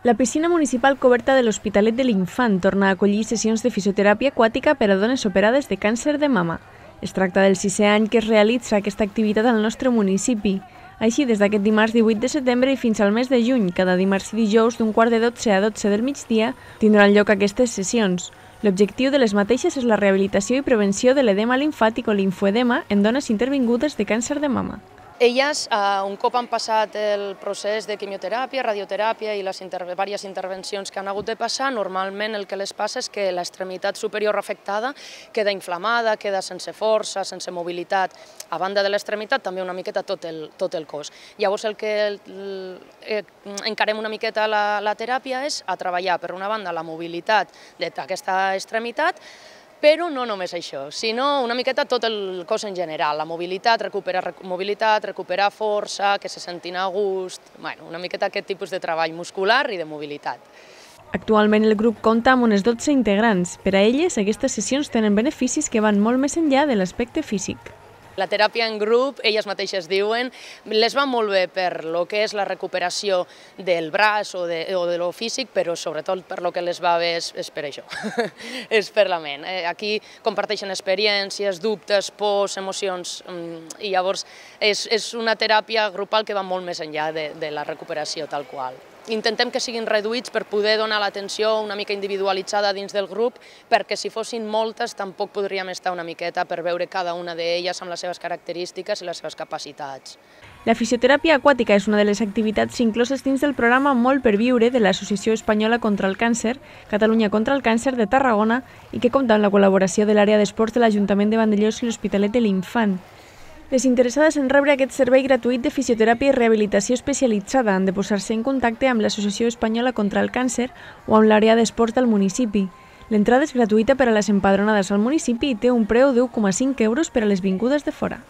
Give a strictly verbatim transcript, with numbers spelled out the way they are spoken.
La piscina municipal coberta de l'Hospitalet de l'Infant torna a acollir sessions de fisioteràpia aquàtica per a dones operades de càncer de mama. Es tracta del sisè any que es realitza aquesta activitat al nostre municipi. Així, des d'aquest dimarts divuit de setembre i fins al mes de juny, cada dimarts i dijous d'un quart de dotze a dotze del migdia, tindran lloc aquestes sessions. L'objectiu de les mateixes és la rehabilitació i prevenció de l'edema limfàtic o linfoedema en dones intervingudes de càncer de mama. Elles, un cop han passat el procés de quimioteràpia, radioteràpia i les diverses intervencions que han hagut de passar, normalment el que les passa és que l'extremitat superior afectada queda inflamada, queda sense força, sense mobilitat. A banda de l'extremitat, també una miqueta tot el, tot el cos. Llavors el que encarem una miqueta la, la teràpia és a treballar, per una banda, la mobilitat d'aquesta extremitat, però no només això, sinó una miqueta tot el cos en general, la mobilitat, recuperar mobilitat, recuperar força, que se sentin a gust, bueno, una miqueta aquest tipus de treball muscular i de mobilitat. Actualment el grup compta amb unes dotze integrants. Per a elles, aquestes sessions tenen beneficis que van molt més enllà de l'aspecte físic. La teràpia en grup, elles mateixes diuen, les va molt bé per lo que és la recuperació del braç o de, o de lo físic, però sobretot per lo que les va bé és, és per això, és per la ment. Aquí comparteixen experiències, dubtes, pors, emocions, i llavors és, és una teràpia grupal que va molt més enllà de, de la recuperació tal qual. Intentem que siguin reduïts per poder donar l'atenció una mica individualitzada dins del grup, perquè si fossin moltes tampoc podríem estar una miqueta per veure cada una d'elles amb les seves característiques i les seves capacitats. La fisioteràpia aquàtica és una de les activitats incloses dins del programa Molt per Viure de l'Associació Espanyola contra el Càncer, Catalunya contra el Càncer de Tarragona, i que compta amb la col·laboració de l'àrea d'esports de l'Ajuntament de Vandellòs i l'Hospitalet de l'Infant. Les interessades en rebre aquest servei gratuït de fisioteràpia i rehabilitació especialitzada han de posar-se en contacte amb l'Associació Espanyola contra el Càncer o amb l'àrea d'esports del municipi. L'entrada és gratuïta per a les empadronades al municipi i té un preu de u coma cinc euros per a les vingudes de fora.